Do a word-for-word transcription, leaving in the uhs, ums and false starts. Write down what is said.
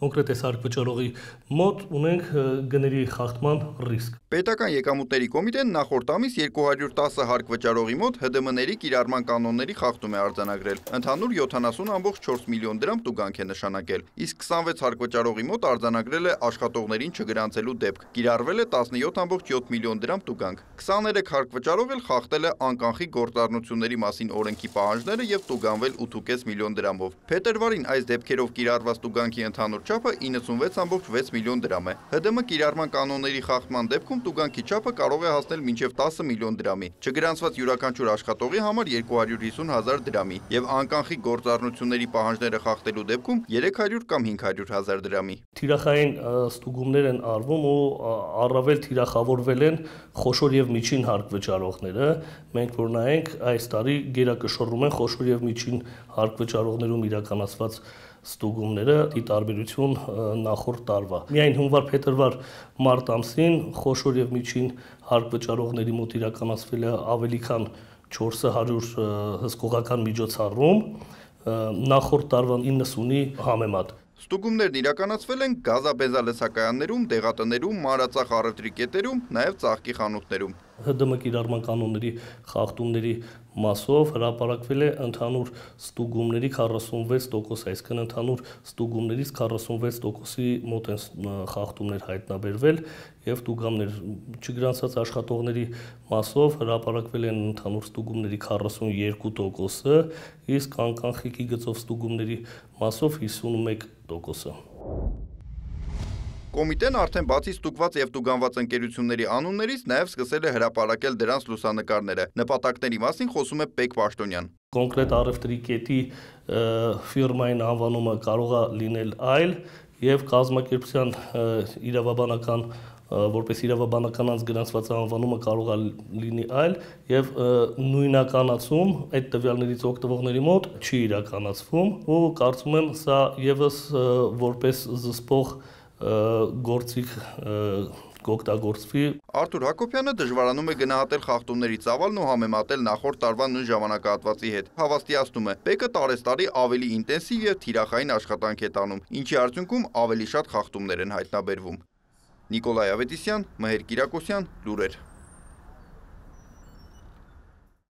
կոնկրետ այս հարկվճարողի մոտ ունենք գների խախտման ռիսկ։ Պետական եկամուտների կոմիտեն նախորդ ամիս երկու հարյուր տասը հարկվճարողի մոտ ՀԴՄ-ների կիրառման կանոնների խախտում է արձանագրել։ Ընդհանուր յոթանասուն կόμμα չորս միլիոն դրամ տուգանք է նշանակել, իսկ քսանվեց հարկվճարողի մոտ արձանագրել է աշխատողներին չգրանցելու դեպք։ Կիրառվել է տասնյոթ կόμμα յոթ միլիոն դրամ տուգանք։ քսաներեք հարկվճարող էլ խախտել է անկանխիկ գործառնությունների մասին օրենքի պահանջները եւ տուգանվել ութ կόμμα պենս միլիոն դրամով։ Փետրվարին այս դեպքերով կիրառված տուգանքի ընդհանուր չափը իննսունվեց կόμμα վեց միլիոն դրամ է։ ՀԴՄ կիրառման կանոնների խախտման դեպքում տուգանքի չափը կարող է հասնել մինչև տասը միլիոն դրամի, չգրանցված յուրաքանչյուր աշխատողի համար երկու հարյուր հիսուն հազար դրամի եւ անկանխիկ գործառնությունների պահանջները խախտելու դեպքում երեք հարյուր կամ հինգ հարյուր հազար դրամի։ Թիրախային ստուգումներ են արվում ու առավել թիրախավորվել են խոշոր եւ միջին հարկվճարողները։ Մենք որ նայենք այս տարի գերակշռում են խոշոր եւ միջին հարկվճարողներում իրականացված ստուգումները ի տարբերություն նախորդ տարվա։ Միայն հունվար-փետրվար մարտ ամսին խոշոր եւ միջին հարկվճարողների մոտ իրականացվել է ավելի քան չորս հարյուր հսկողական միջոցառում նախորդ տարվա իննսունի համեմատ։ Ստուգումներն իրականացվել են գազաբենզալսակայաններում, դեղատներում, մանրածախ առևտրի կետերում, նաև ծաղկի խանութներում։ ՀԴՄ կիրառման կանոնների խախտումների մասով հրապարակվել է ընդհանուր ստուգումների քառասունվեց տոկոս, այսինքն ընդհանուր ստուգումներից քառասունվեց տոկոսի մոտ են խախտումներ հայտնաբերվել եւ տուգաններ չգրանցած աշխատողների մասով հրապարակվել են ընդհանուր ստուգումների քառասունյոթ տոկոսը, իսկ անկանխիկի գծով ստուգումների մասով հիսունմեկ տոկոսը։ Կոմիտեն արդեն բացի ստուգված եւ տուգանված ընկերությունների անուններից նաեւ սկսել է հրապարակել դրանց լուսանկարները։ Նպատակների մասին խոսում է Պեկ Պաշտոնյան։ Կոնկրետ առևտրի կետի ֆիրմային անվանումը կարող է լինել այլ եւ կազմակերպության իրավաբանական որպես իրավաբանական անձ գրանցված անվանումը կարող է լինի այլ եւ նույնականացում այդ տվյալներից օգտվողների մոտ չի իրականացվում ու կարծում եմ սա եւս որպես զսպող գործիք կօգտագործվի։ Արթուր Հակոբյանը դժվարանում է գնահատել խախտումների ծավալն ու համեմատել նախորդ տարվա նույն ժամանակահատվածի հետ։ Հավաստիացնում է, Պեկը տարեստարի ավելի ինտենսիվ եւ թիրախային աշխատանք է տանում, ինչի արդյունքում ավելի շատ խախտումներ են հայտնաբերվում։ Նիկոլայ Ավետիսյան, Մհեր Կիրակոսյան, լուրեր։